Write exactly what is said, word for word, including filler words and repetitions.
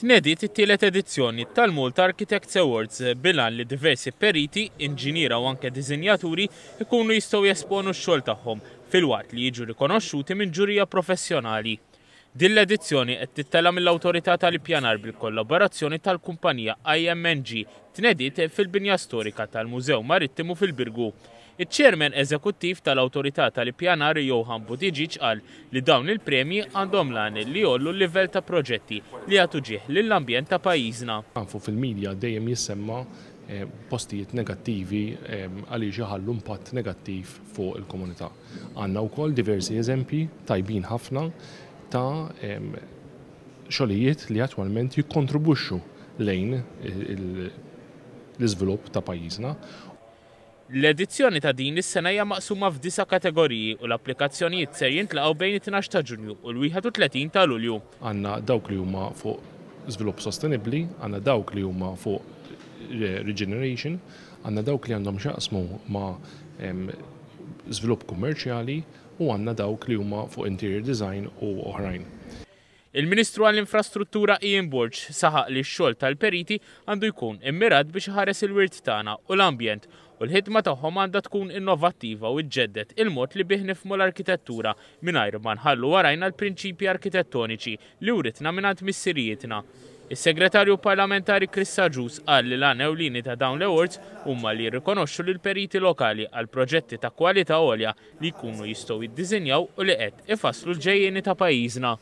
Tnediet it-tielet edizzjoni tal-Malta Architects Awards bil-għan li diversi periti, inġiniera u anke disinjaturi ikunu jistgħu jesponu x-xogħol tagħhom filwaqt li jiġu rikonoxxuti minn ġurija professjonali. Din l-edizzjoni qed tittella' mill-Awtorità tal-Ippjanar bil-kollaborazzjoni tal-kumpanija I M N G, tnediet fil-binja storika tal-Mużew Marittimu fil-Birgu. Iċ-Chairman Eżekuttiv tal-Awtorità tal-Ippjanar, Johan Buttigieg, qal li dawn il-premji għandhom l-għan li jgħollu l-livell ta' proġetti li jagħtu ġieħ lill-ambjent ta' pajjiżna. Nafu fil-medja dejjem jissemma eh, postijiet negattivi eh, għaliex iħallu impatt negattiv fuq il-komunità. Għandna wkoll diversi eżempji tajbin ħafna ta' xogħlijiet li attwalment jikkontribwixxu lejn l-iżvilupp ta' pajjiżna. L-edizzjoni ta' din is-sena hija maqsuma f'disa' kategoriji u l-applikazzjonijiet ser jintlaqgħu bejn it-tnax ta' Ġunju u l-wieħed u tletin ta' Lulju. Għandna dawk li huma fuq żvilupp sostenibbli, għandna dawk li huma fuq regeneration, għandna dawk li għandhom x'jaqsmu ma' żvilupp kummerċjali u għandna dawk li huma fuq interior design u oħrajn. Il-Ministru għall-Infrastruttura Ian Borg saħaq li x-xogħol tal-periti għandu jkun immirat biex iħares il-wirt tagħna u l-ambjent u l-ħidma tagħhom għandha tkun innovattiva u ġġedded il-mod li bih nifhmu l-arkitettura mingħajr ma nħallu warajna l-prinċipji arkitettoniċi li writna mingħand missirijietna. Is-Segretarju Parlamentari Chris Agius qal li l-għan ewlieni ta' dawn l-awards huma li jirrikonoxxu lil periti lokali għal proġetti ta' kwalità għolja li jkunu jistgħu jiddiżinjaw u li qed ifasslu l-ġejjieni ta' pajjiżna.